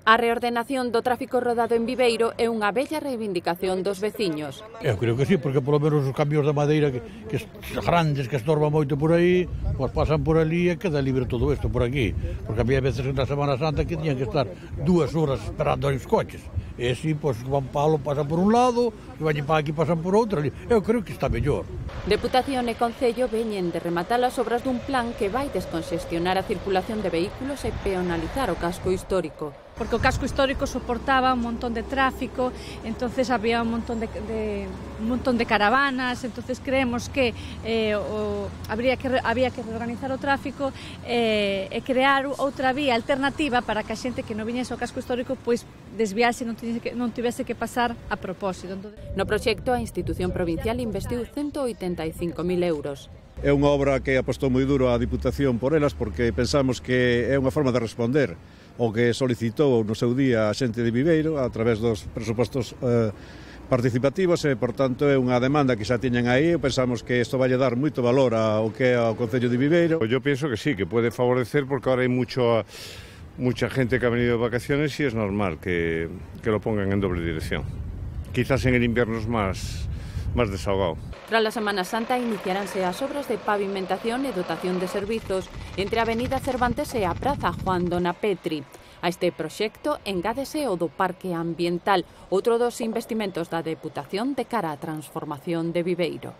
A reordenación do tráfico rodado en Viveiro é unha bella reivindicación dos veciños. Eu creo que sí, porque polo menos os camións da madeira que grandes, que estorban moito por aí, pois pasan por ali e queda libre todo isto por aquí. Porque había veces na Semana Santa que tiñan que estar 2 horas esperando os coches. E así, pois, van palo, pasan por un lado, e van para aquí, pasan por outro. Eu creo que está mellor. Deputación e Concello veñen de rematar as obras dun plan que vai desconxestionar a circulación de vehículos e peonalizar o casco histórico. Porque o casco histórico soportaba un montón de tráfico, entonces había un montón de caravanas, entonces creemos que había que reorganizar o tráfico e crear outra vía alternativa para que a xente que non viñese ao casco histórico pois desviase e non tivese que pasar a propósito. No proxecto, a institución provincial investiu 185.000 euros. É unha obra que apostou moi duro a Diputación por elas porque pensamos que é unha forma de responder o que solicitou no seu día a xente de Viveiro a través dos presupostos participativos e, por tanto, é unha demanda que xa tiñan aí e pensamos que isto vai dar moito valor ao que é o Concello de Viveiro. Yo pienso que sí, que puede favorecer porque ahora hai mucha gente que ha venido de vacaciones y es normal que lo pongan en doble dirección. Quizás en el invierno es más desahogado. Tras la Semana Santa iniciaránse as obras de pavimentación e dotación de servizos entre a Avenida Cervantes e a Praza Juan Dona Petri. A este proxecto engádese o do Parque Ambiental, outro dos investimentos da Deputación de cara á transformación de Viveiro.